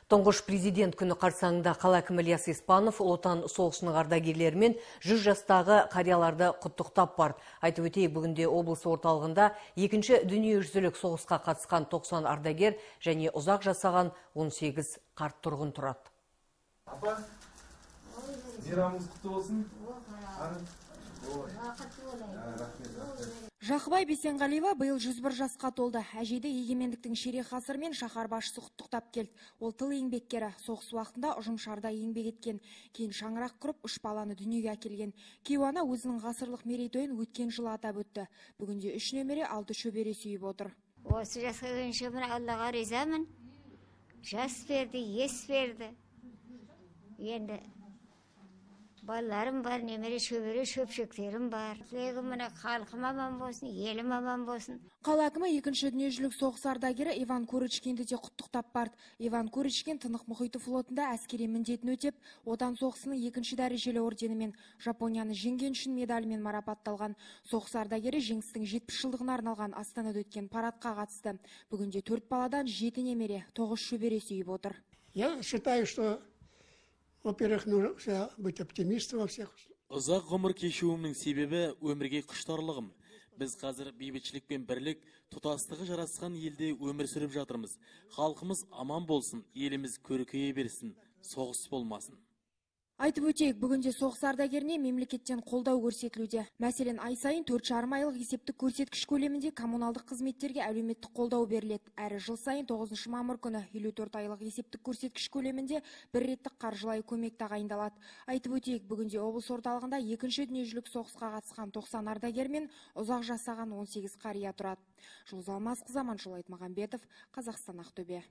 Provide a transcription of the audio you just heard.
Тұңғыш президент күні қарсаңында қала әкімі Ильяс Испанов Отан соғысының ардагерлерімен 100 жастағы қарияларды құттықтап барды. Айтып өтейік, бүгінде облыс орталығында екінші дүниежүзілік соғысқа қатысқан 90 ардагер және ұзақ жасаған 18 қарт тұрғын тұрады. Апа, мейрамыңыз құтты болсын. Жақыбай Бесенғалиева биыл 101 жасқа толды. Әжейді егемендіктің ширек ғасырымен шаһар басшысы құттықтап келді. Ол тыл еңбеккері, соғыс уақытында ұжымшарда еңбек еткен, кейін шаңырақ құрып 3 баланы дүниеге әкелген. Кейуана өзінің ғасырлық мерейтойын өткен жылы атап өтті. Бүгінде 3 немере, 6 шөбере сүйіп отыр. Осы жасқа келгенше мен Аллаға ризамын. Жас берді, ес берді. Енді балаларым бар, немере шөбере шөпшектерім бар. Тілегім міне халқым аман болсын, елім аман болсын. Қала әкімі екінші дүниежүзілік соғыс ардагері Иван Курочкинді де құттықтап барды. Иван Курочкин Тынық мұхиты флотында әскери міндетін өтеп, Отан соғысының 2-ші дәрежелі орденімен, Жапонияны жеңген үшін медалімен марапатталған. Соғыс ардагері жеңістің 70 жылдығына арналған Астанада өткен парадқа қатысты. Бүгінде 4 баладан 7 немере, 9 шөбере сүйіп отыр. Я считаю, что во-первых, нужно быть оптимистом во всех. Ұзақ ғұмыр кешуімнің себебі өмірге құштарлығым. Біз қазір бейбітшілік пен бірлік, тұтастығы жарасқан елде өмір сүріп жатырмыз. Халқымыз аман болсын, еліміз көркейе берсін, соғыс болмасын. Айтып өтейік, бүгінде соғыс ардагеріне мемлекеттен қолдау көрсетілуде. Мәселен, ай сайын 4,5 айлық есептік көрсеткіш көлемінде коммуналдық қызметтерге әлеуметтік қолдау беріледі. Әрі жыл сайын 9 мамыр күні 54 айлық есептік көрсеткіш көлемінде бір реттік қаржылай көмек тағайындалады. Айтып өтейік, бүгінде облыс орталығында екінші дүниежүзілік соғысқа қатысқан 90 ардагер мен ұзақ жасаған 18 қария тұрады. Жұлдыз Алмасқызы, Аманжол Айтмағамбетов, Қазақстан, Ақтөбе.